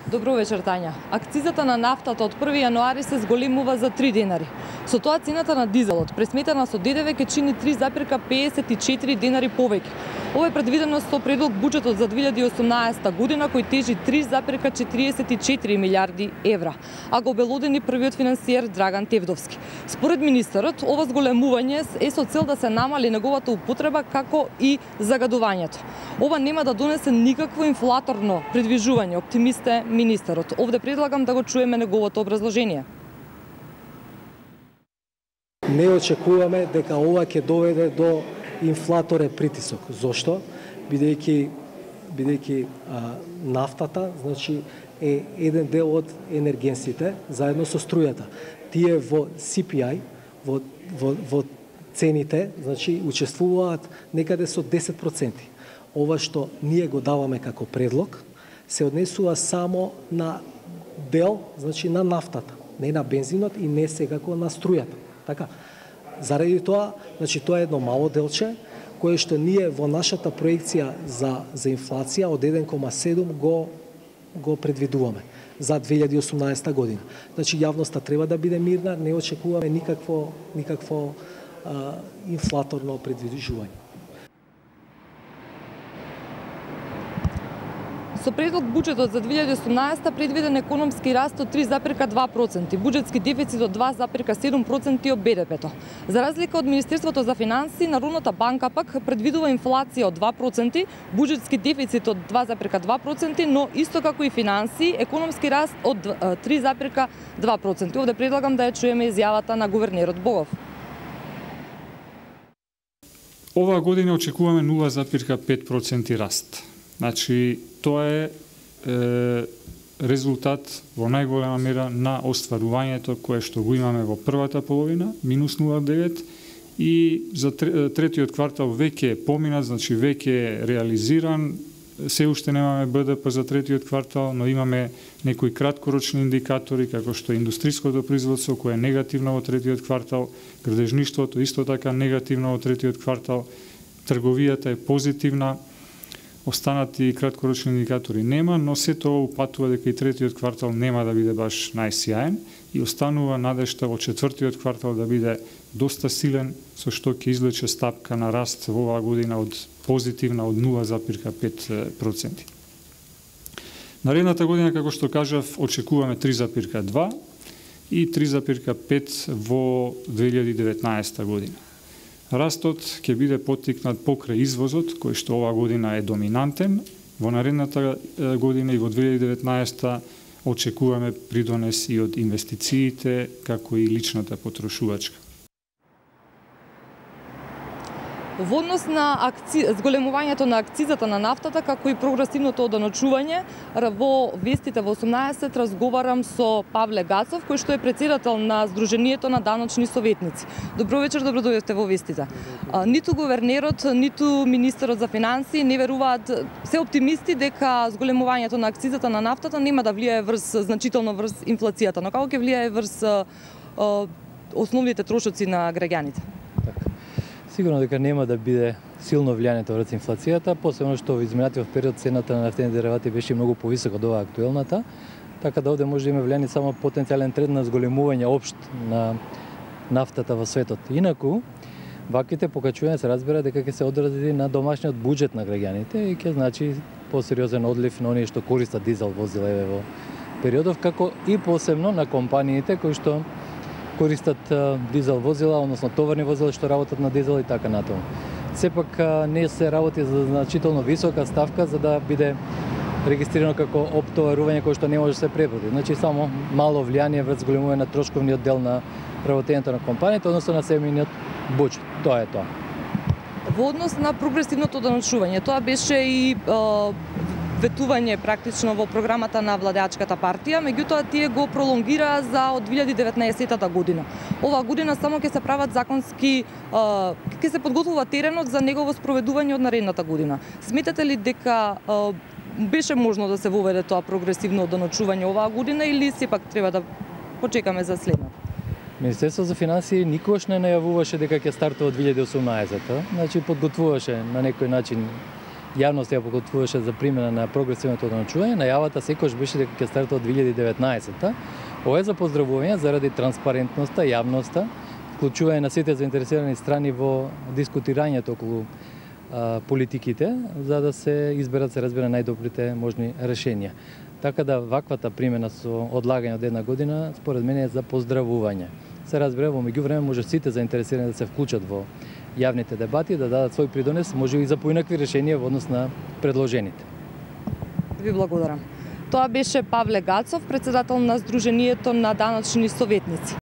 Добро вечер, Тања. Акцизата на нафтата од 1 јануари се зголемува за 3 денари. Со тоа цената на дизелот, пресметана со ДДВ, ќе чини 3,54 денари повеќе. Ова е предвидено со предлог буџетот за 2018 година, кој тежи 3,44 милиарди евра, а го обелодени првиот финансиер Драган Тевдовски. Според министерот, ова зголемување е со цел да се намали неговата употреба, како и загадувањето. Ова нема да донесе никакво инфлаторно придвижување, оптимист е министерот. Овде предлагам да го чуеме неговото образложение. Не очекуваме дека ова ќе доведе до инфлаторен притисок. Зошто? Бидејќи нафтата, значи, е еден дел од енергенсите заедно со струјата. Тие во CPI, во цените, значи, учествуваат некаде со 10%. Ова што ние го даваме како предлог се однесува само на дел, значи на нафтата, не на бензинот и не секако на струјата. Така. Заради тоа, значи тоа е едно мало делче кое што ние во нашата проекција за инфлација од 1,7 го предвидуваме за 2018 година. Значи јавноста треба да биде мирна, не очекуваме никакво инфлаторно предвижување. Со предлог буџетот за 2018 предвиден економски раст од 3,2%, буџетски дефицит од 2,7% од БДП-то. За разлика од Министерството за финансии, Народната банка пак предвидува инфлација од 2%, буџетски дефицит од 2,2%, но исто како и финансии, економски раст од 3,2%. Овде предлагам да ја чуеме изјавата на гувернерот Богов. Оваа година очекуваме 0,5% раст. Значи, тоа е резултат во најголема мера на остварувањето кое што го имаме во првата половина, минус 0,9, и за третиот квартал веќе е поминат, значи веќе е реализиран, се уште немаме БДП за третиот квартал, но имаме некои краткорочни индикатори, како што е индустриското производство, кое е негативно во третиот квартал, градежништвото исто така негативно во третиот квартал, трговијата е позитивна, останати краткорочни индикатори нема, но се тоа упатува дека и третиот квартал нема да биде баш најсјаен и останува надежта во четвртиот квартал да биде доста силен, со што ќе извлече стапка на раст во оваа година од позитивна од 0,5%. Наредната година, како што кажав, очекуваме 3,2 и 3,5 во 2019 година. Растот ќе биде поттикнат покрај извозот, кој што оваа година е доминантен. Во наредната година и во 2019 очекуваме придонес и од инвестициите, како и личната потрошувачка. Во однос на зголемувањето на акцизата на нафтата, како и прогресивното оданочување, во вестите во 18 разговарам со Павле Гацов, кој што е претседател на Сдруженијето на даночни советници. Добро вечер, добро дојдовте во вестите. Ниту гувернерот, ниту министерот за финансии не веруваат, се оптимисти дека зголемувањето на акцизата на нафтата нема да влијае значително врз инфлацијата, но како ќе влијае врз основните трошоци на граѓаните? Сигурно дека нема да биде силно влијанието врз инфлацијата, посебно што во изминатиот период цената на нафтени деривати беше многу повисока од оваа актуелната, така да овде може да има влијание само потенцијален тренд на зголемување општ на нафтата во светот. Инаку, ваквите покачувања се разбира дека ќе се одрази на домашниот буџет на граѓаните и ќе значи посериозен одлив на оние што користат дизел возила во периодов, како и посебно на компаниите кои што користат дизел возила, односно товарни возила што работат на дизел и така натаму. Сепак не се работи за значително висока ставка за да биде регистрирано како оптоварување кое што не може да се преброди. Значи само мало влијание врз зголемување на трошковниот дел на работењето на компанијата, односно на семејниот буџет. Тоа е тоа. Во однос на прогресивното оданочување, тоа беше и ветување практично во програмата на владеачката партија, меѓутоа тие го пролонгираа за од 2019 година. Оваа година само ќе се прават законски, ќе се подготвува теренот за негово спроведување од наредната година. Сметате ли дека беше можно да се воведе тоа прогресивно оданочување оваа година или сепак треба да почекаме за следната? Министерството за финансии никогаш не најавуваше дека ќе стартува од 2018-та, значи подготвуваше на некој начин јавноста ја подготвуваше за примена на прогресивното одначување, најавата секогаш беше дека ќе стартува од 2019-та. Ова е за поздравување заради транспарентноста, јавноста, вклучување на сите заинтересирани страни во дискутирањето околу политиките, за да се изберат, се разбира, најдобрите можни решенија. Така да ваквата примена со одлагање од една година, според мене е за поздравување. Се разбира, во меѓувреме може сите заинтересирани да се вклучат во јавните дебати, да дадат свој придонес, може и за поинакви решенија во однос на предложените. Ви благодарам. Тоа беше Павле Гацов, председател на Сдруженијето на даночни советници.